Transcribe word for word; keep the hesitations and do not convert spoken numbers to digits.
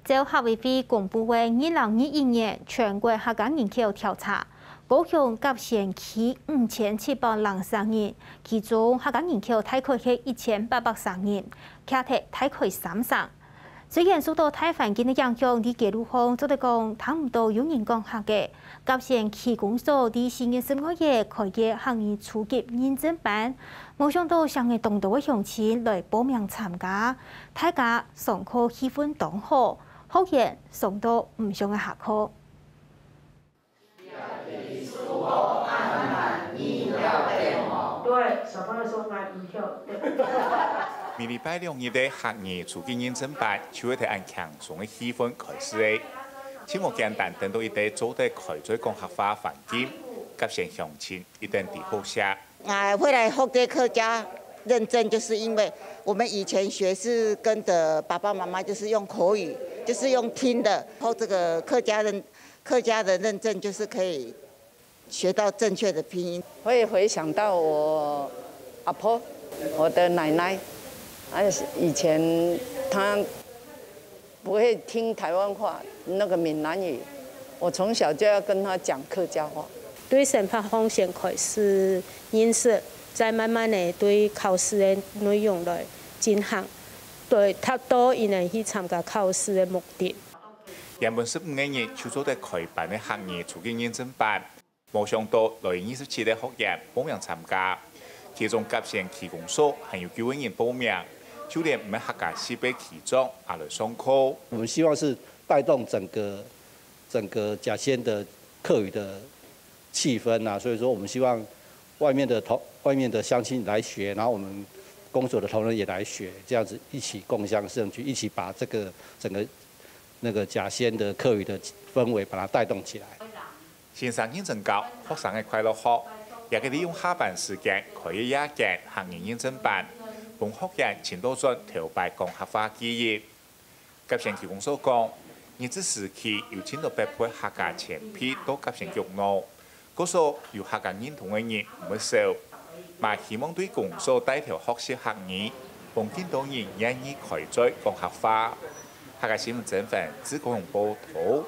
照客委會公布个二零二一年全國客家人口調查，高雄甲仙區五千七百零三人，其中客家人口大概係一千八百三人，徛忒大概三成。雖然受到大環境个影響，在街路項做得講聽毋到有人講客个，甲仙區公所在四月十五日開个客語初級認證班，無想到成个當多个鄉親來報名參加，大家上課氣氛當好，學員上到毋少个下課。對，小朋友說來毋跳。每禮拜兩日个客語初級認證班，就會在恁輕鬆个氣氛開始个。真無簡單，等到一個做得開嘴講客話環境，甲仙鄉親一定知好勢。 啊，會來學這客家認證，就是因為我們以前學是跟著爸爸媽媽，就是用口語，就是用聽的，然後這個客家認客家的認證，就是可以學到正確的拼音。會回想到我阿婆，我的奶奶，啊，以前她不會聽台灣話，那個閩南語，我從小就要跟她講客家話。對生活方面開始認識，再慢慢的對考試的內容來進行，對達到佢等去參加考試的目的。原本十五個人就做得開班个客語初級認證班，無想到來二十七個學員報名參加，其中甲仙區公所還有九個人報名，就連毋係客家系个區長也來上課。我們希望是帶動整個整個甲仙的客語的氣氛啊，所以說我們希望外面的同外面的鄉親來學，然後我們公所的同仁也來學，這樣子一起共襄盛舉，一起把這個整個那個甲仙的客語的氛圍把它帶動起來。先生認真教，學生个快樂學，也係利用下班時間開个夜間客語認證班，分學員尋到轉頭擺講客話記憶。甲仙區公所講，日治時期有盡多北部客家前輩到甲仙莒路，故所有客家認同个人毋會少，嘛希望對公所帶頭學習客語，分更多人願意開嘴講客話。客家新聞曾凡，自高雄報導。